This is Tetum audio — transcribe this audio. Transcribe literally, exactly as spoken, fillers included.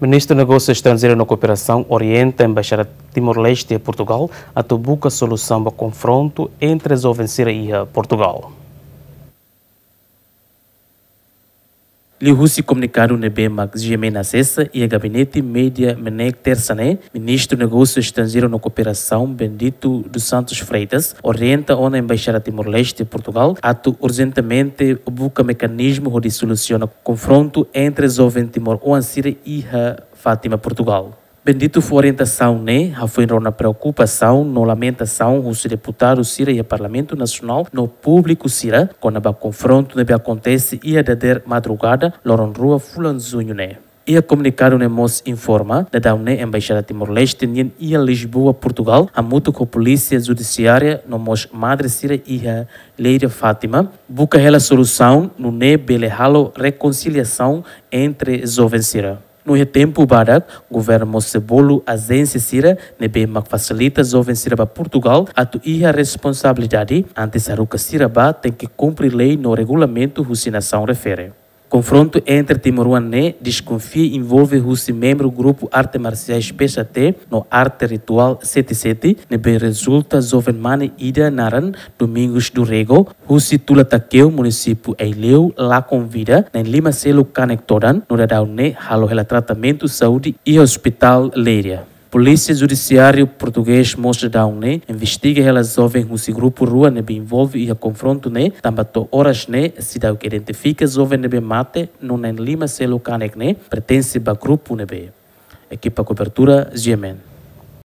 Ministru Negósiu Estranjeiru no Kooperasaun orienta Embaixada Timor-Leste iha Portugal atu buka solusaun ba konfrontu entre joven sira iha Portugal. Liuhusi komunikadu ne'ebé mak GMN asesa iha gabinete média MNEK Tersa ne'e, Ministru Negósiu Estranjeiru no Kooperasaun Bendito dos Santos Freitas orienta ona Embaixada Timor-Leste Portugal atu urjentemente buka mekanizmu hodi solusiona konfrontu entre joven timoroan sira iha Fátima, Portugal. Bendito fó orientasaun ne'e hafoin rona preokupasaun no lamentasaun husi deputadu sira iha Parlamentu Nasionál no públiku sira kona-ba konfrontu ne'ebé akontese iha dadeer madrugada loron rua fulan Juñu ne'e. Iha komunikadu ne'e mós informa, daudaun ne'e Embaixada Timor-Leste nian iha Lisboa, Portugal, hamutuk ho Polísia Judisiária no mós madre sira iha Leiria Fátima, buka hela solusaun nune'e bele halo rekonsiliasaun entre joven sira. No iha tempu badak, governu mós sei bolu ajénsia sira ne'ebé mak fasilita joven sira ba Portugal atu iha responsabilidade, antes haruka sira bá tenke kumpre lei no regulamentu husi nasaun refere. Konfrontu entre timoroan ne'e deskonfia envolve husi membru grupu arte marsiais P S T no arte rituál sete sete, ne'ebé rezulta joven mane ida naran Domingos do Rego, husi Tula Takeu, munisípiu Aileu, la konvida na'in lima seluk kanek todan, no daudaun ne'e halo hela tratamentu saúde iha Hospital Leiria. Polísia Judisiáriu Portugés mós daudaun ne'e investiga hela joven husi grupu rua ne'ebé envolve iha konfrontu ne'e, tanba to'o oras ne'e seidauk identifika joven ne'ebé mate no na'in lima seluk kanek ne'e pertense ba grupu ne'ebé. Ekipa kobertura GMN.